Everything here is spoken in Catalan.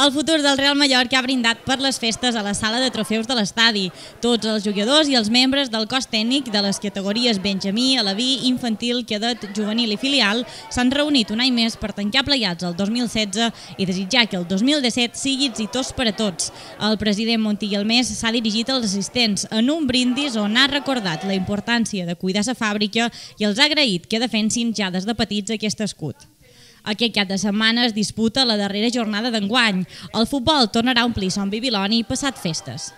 El futur del Real Mallorca ha brindat per les festes a la sala de trofeus de l'estadi. Tots els jugadors i els membres del cos tècnic de les categories Benjamí, Alaví, Infantil, Cadet, Juvenil i Filial s'han reunit un any més per tancar plegats el 2016 i desitjar que el 2017 sigui exitós per a tots. El president Montilla Almés s'ha dirigit als assistents en un brindis on ha recordat la importància de cuidar la fàbrica i els ha agraït que defensin ja des de petits aquest escut. Aquest cap de setmana es disputa la darrera jornada d'enguany. El futbol tornarà a omplir Son Bibiloni passat festes.